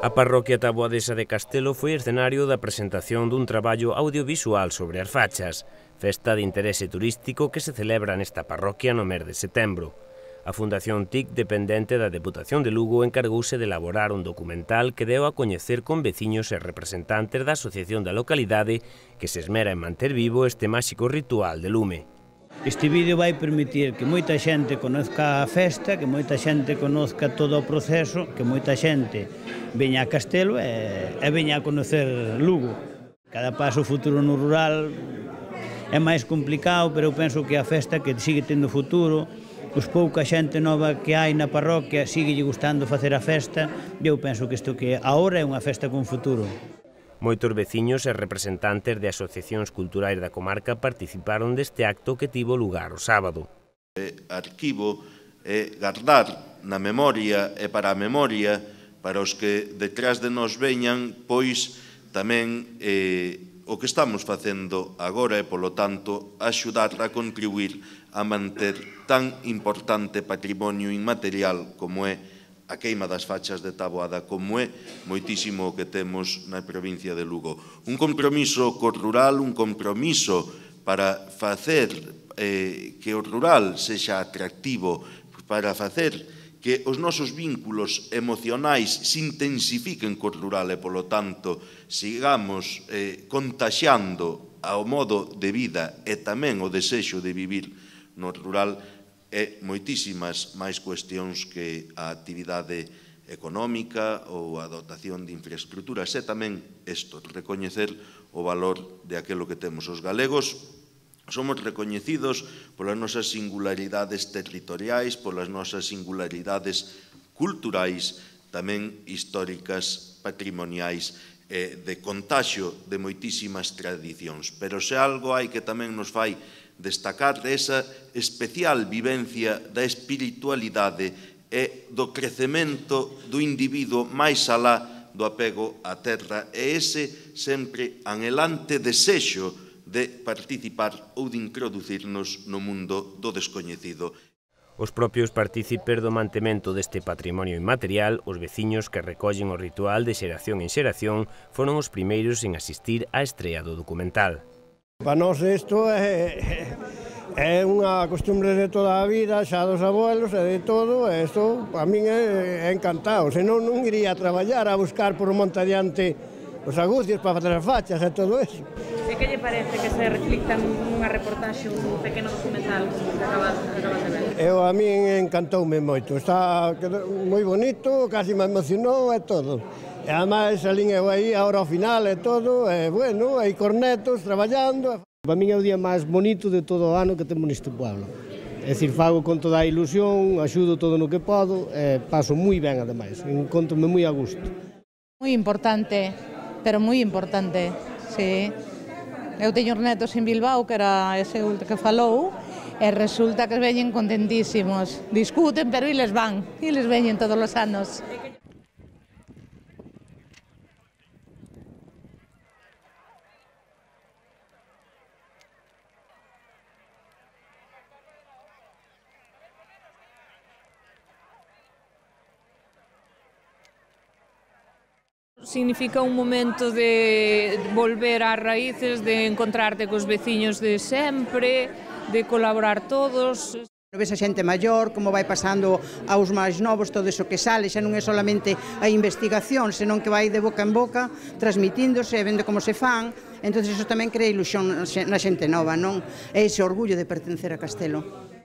A parroquia taboadesa de Castelo foi escenario da presentación dun traballo audiovisual sobre as fachas, festa de interese turístico que se celebra nesta parroquia no mes de setembro. A Fundación TIC, dependente da Deputación de Lugo, encargouse de elaborar un documental que deu a coñecer con veciños e representantes da asociación da localidade que se esmera en manter vivo este máxico ritual de lume. Este vídeo vai permitir que moita xente conozca a festa, que moita xente conozca todo o proceso, que moita xente veña a Castelo e veña a conocer Lugo. Cada paso futuro no rural é máis complicado, pero eu penso que a festa que sigue tendo futuro, os pouca xente nova que hai na parroquia sigue lle gustando facer a festa, e eu penso que isto que agora é unha festa con futuro. Moitos veciños e representantes de asociacións culturais da comarca participaron deste acto que tivo lugar o sábado. Arquivo é guardar na memoria e para a memoria para os que detrás de nos veñan, pois tamén o que estamos facendo agora e, polo tanto, axudar a contribuir a manter tan importante patrimonio inmaterial como é a queima das fachas de Taboada, como é moitísimo o que temos na provincia de Lugo. Un compromiso co rural, un compromiso para facer que o rural sexa atractivo, para facer que os nosos vínculos emocionais se intensifiquen co rural e, polo tanto, sigamos contaxiando ao modo de vida e tamén o desexo de vivir no rural e moitísimas máis cuestións que a actividade económica ou a dotación de infraestructuras e tamén isto, recoñecer o valor de aquilo que temos os galegos. Somos recoñecidos polas nosas singularidades territoriais, polas nosas singularidades culturais, tamén históricas, patrimoniais, de contaxio de moitísimas tradicións. Pero se algo hai que tamén nos fai destacar esa especial vivencia da espiritualidade e do crecemento do individuo máis alá do apego á terra e ese sempre anhelante desexo de participar ou de introducirnos no mundo do descoñecido. Os propios partícipes do mantemento deste patrimonio inmaterial, os veciños que recollen o ritual de xeración en xeración, foron os primeiros en asistir á estrea do documental. Para nós isto é unha costumbre de toda a vida, xa dos abuelos e de todo, e isto para min é encantado, senón non iría a traballar a buscar por un monte adiante os agucios para facer as fachas e todo eso. E que lle parece que se reflicta nunha reportaxe, un pequeno documental que acabas de ver? A min encantoume moito, está moi bonito, casi me emocionou e todo. E ademais salín eu aí, ahora ao final e todo, e bueno, hai cornetos traballando. Para min é o día máis bonito de todo o ano que temos neste pueblo. É dicir, fago con toda a ilusión, axudo todo no que podo, e paso moi ben ademais, encontro-me moi a gusto. Moi importante, pero moi importante, sí. Eu teño os netos en Bilbao, que era ese que falou, e resulta que veñen contentísimos. Discuten, pero eles van, eles veñen todos os anos. Significa un momento de volver ás raíces, de encontrarte cos veciños de sempre, de colaborar todos. Ves a xente maior, como vai pasando aos máis novos, todo iso que sale, xa non é solamente a investigación, senón que vai de boca en boca, transmitíndose, vendo como se fan, entón iso tamén crea ilusión na xente nova, non? É ese orgullo de pertencer a Castelo.